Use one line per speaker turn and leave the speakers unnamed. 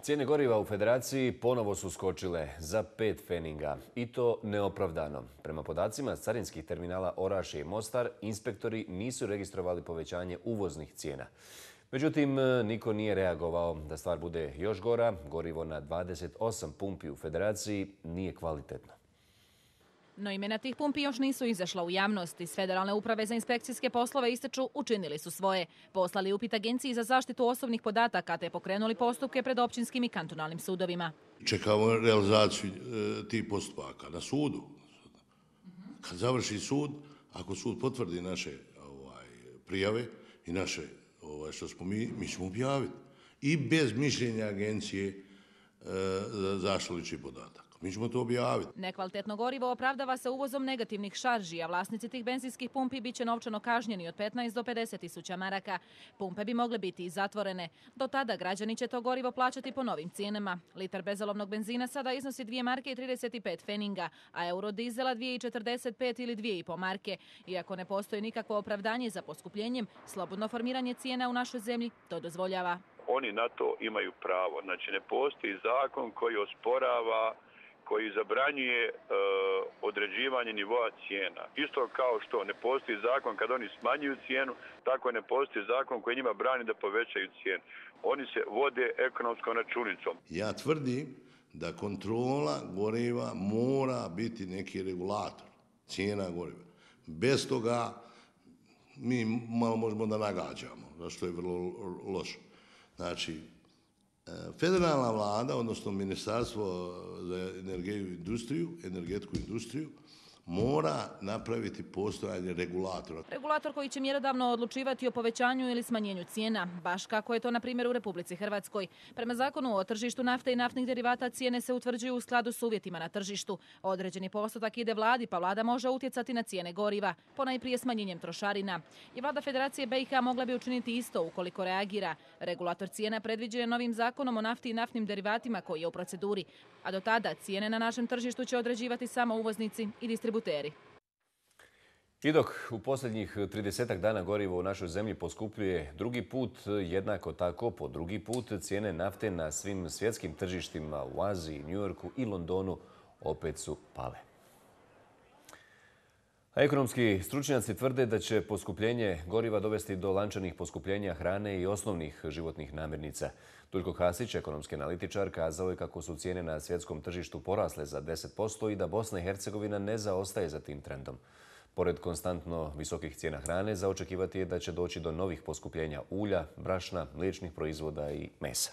Cijene goriva u Federaciji ponovo su skočile za 5 pfeninga i to neopravdano. Prema podacima carinskih terminala Orašje i Mostar, inspektori nisu registrovali povećanje uvoznih cijena. Međutim, niko nije reagovao. Da stvar bude još gora, gorivo na 28 pumpi u Federaciji nije kvalitetno.
No imena tih pumpi još nisu izašla u javnost. Iz Federalne uprave za inspekcijske poslove ističu učinili su svoje. Poslali upit Agenciji za zaštitu osobnih podataka te pokrenuli postupke pred općinskim i kantonalnim sudovima.
Čekamo realizaciju tih postupaka na sudu. Kad završi sud, ako sud potvrdi naše prijave i naše što smo mi ćemo objaviti. I bez mišljenja Agencije za zaštitu ličnih podataka. Mi ćemo to objaviti.
Nekvalitetno gorivo opravdava se uvozom negativnih šarži, a vlasnici tih benzinskih pumpi bit će novčano kažnjeni od 15 do 50 tisuća maraka. Pumpe bi mogle biti i zatvorene. Do tada građani će to gorivo plaćati po novim cijenama. Litar bezolovnog benzina sada iznosi 2 marke i 35 pfeninga, a eurodizela 2,45 ili 2,5 marke. Iako ne postoji nikakvo opravdanje za poskupljenjem, slobodno formiranje cijena u našoj zemlji to dozvoljava.
Oni na to imaju pravo. Znači, ne postoji zakon koji osporava, koji zabranjuje određivanje nivoa cijena. Isto kao što ne postoji zakon kad oni smanjuju cijenu, tako ne postoji zakon koji njima brani da povećaju cijenu. Oni se vode ekonomskom računicom.
Ja tvrdim da kontrola goriva mora biti neki regulator cijena goriva. Bez toga mi malo možemo da nagađamo, što je vrlo loše. Znači, federalna vlada, odnosno Ministarstvo za energetsku industriju, mora napraviti postojanje regulatora.
Regulator koji će mjerodavno odlučivati o povećanju ili smanjenju cijena, baš kako je to na primjer u Republici Hrvatskoj. Prema zakonu o tržištu nafte i naftnih derivata cijene se utvrđuju u skladu s uvjetima na tržištu. Određeni postotak ide vladi, pa vlada može utjecati na cijene goriva, ponajprije smanjenjem trošarina. I vlada Federacije BiH mogla bi učiniti isto ukoliko reagira. Regulator cijena predviđen je novim zakonom o nafti i naftnim derivatima koji je u proceduri, a do tada cijene na našem tržištu će određivati samo uvoznici i distributeri.
I dok u posljednjih 30 dana gorivo u našoj zemlji poskupljuje drugi put, jednako tako po drugi put cijene nafte na svim svjetskim tržištima u Aziji, Njujorku i Londonu opet su pale. A ekonomski stručnjaci tvrde da će poskupljenje goriva dovesti do lančanih poskupljenja hrane i osnovnih životnih namirnica. Duljko Hasić, ekonomski analitičar, kazao je kako su cijene na svjetskom tržištu porasle za 10% i da Bosna i Hercegovina ne zaostaje za tim trendom. Pored konstantno visokih cijena hrane, za očekivati je da će doći do novih poskupljenja ulja, brašna, mliječnih proizvoda i mesa.